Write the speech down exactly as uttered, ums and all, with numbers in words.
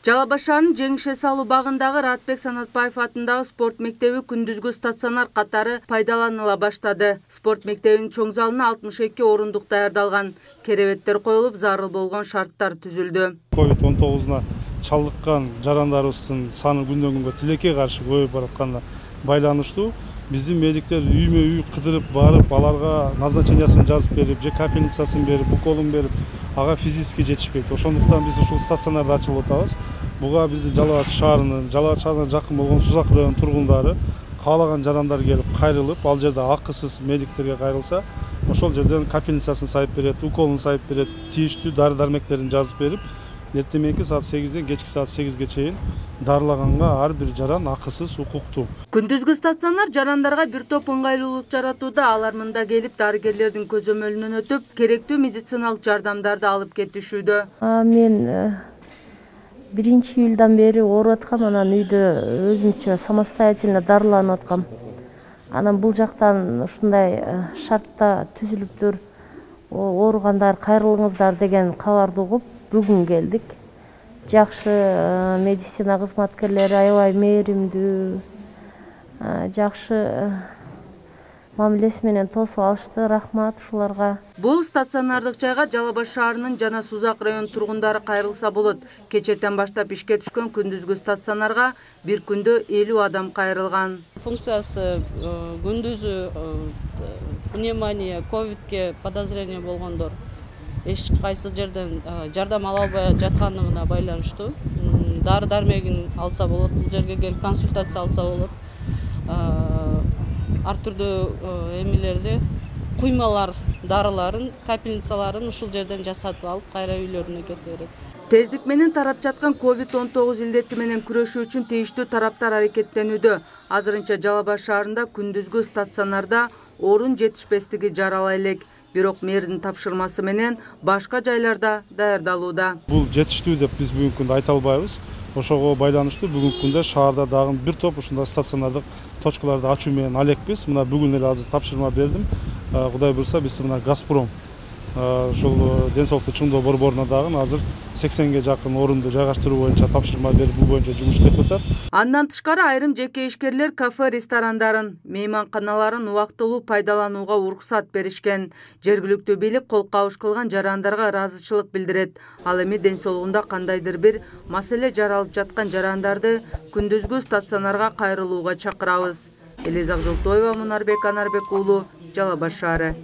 Жалал Абад шаарынын Жеңише салуу багындагы Ратбек Санатбаев атындагы спорт мектеби күндүзгү стационар катары пайдаланыла баштады. Спорт мектебинин чоң залына алтымыш эки орундук даярдалган. Керебеттер коюлуп, зарыл болгон шарттар түзүлдү. ковид он тогузуна чалдыккан жарандарыбыздын саны күндөн күнгө тилекке каршы көбөйүп баратканына байланыштуу биздин медиктер үймө үй кыдырып барып, аларга назначениясын жазып берип, же капельницасын берип, уколун берип, ага физически жетишпейт. Ошондуктан биз ушул стационарды ачылып атабыз. Буга биздин Жалал Абад шаарынын, Жалал Абад шаарына жакын болгон Сузак районунун тургундары каалаган жарандар келип кайрылып, ал жерде акысыз медиктерге кайрылса, ошол жерден капельницасын сайып берет, уколун сайып берет, тийиштүү дары-дармектерин жазып берип, эртең саат сегизден кечки саат сегизге чейин дарылаганга ар бир жаран акысыз, укуктуу. Күндүзгү стационар жарандарга бир топ ыңгайлуулук жаратууда. Алар мында келип, дарыгерлердин көзөмөлүнөн өтүп, керектүү медициналык жардамдарды алып кетишүүдө. Мен биринчи июлдан бери ооруп аткам, анан үйдө өзүмчө самостоятельно дарыланып аткам. Анан бул жактан ушундай шартта түзүлүптүр, ооругандар кайрылыңыздар деген кабарды угуп, бүгүн келдик. Жакшы медицина кызматкерлери аябай мээримдүү, жакшы мамилеси менен тосуп алышты. Рахмат ушуларга. Бул стационардык жайга Жалал Абад шаарынын жана Сузак районунун тургундары кайрылса болот. Кечэтен баштап ишке түшкөн күндүзгү стационарга бир күндө элүү адам кайрылган. Функциясы күндүзү пневмония, ковидке подозрение болгондор эч кайсы жерден жардам ала албай жатканына байланыштуу. Дары дармегин алса болот, бул жерге келип консультация алса болот. Ар түрдүү эмелерди, куймалар, дарыларын, капельницаларын ушул жерден жасатып алып, кайра үйлөрүнө кете берет. Тездик менен тарап жаткан ковид он тогуз илдети менен күрөшүү үчүн тийиштүү тараптар аракеттенүүдө. Азырынча Жалал Абад шаарында күндүзгү стационарда орун жетишпестиги жарала элек. Бирок мэрдин тапшырмасы менен башка жайларда даярдалууда. Бул жетиштүү деп биз бүгүнкү күндө айта албайбыз. Ошого байланыштуу бүгүнкү күндө шаарда дагы бир топ ушундай стационардык точкаларды ачуу менен алекпиз. Мына бүгүн эле азыр тапшырма бердим. Кудай буйрса биз мына Газпром ушул ден соолукту чыңдоо борборуна дагы азыр сексенге жакын орунду жайгаштыруу боюнча тапшырма берип, бул боюнча жумуш кетип атат. Андан тышкары айрым жеке ишкерлер кафе ресторандарын, мейманканаларын убактылуу пайдаланууга уруксат беришкен. Жергиликтүү бийлик кол кабыш кылган жарандарга ыраазычылык билдирет. Ал эми ден соолугунда кандайдыр бир маселе жаралып жаткан жарандарды күндүзгү стационарга кайрылууга чакырабыз. Элиза Акжолтоева, Мунарбек Анарбек уулу, Жалал Абад шаары.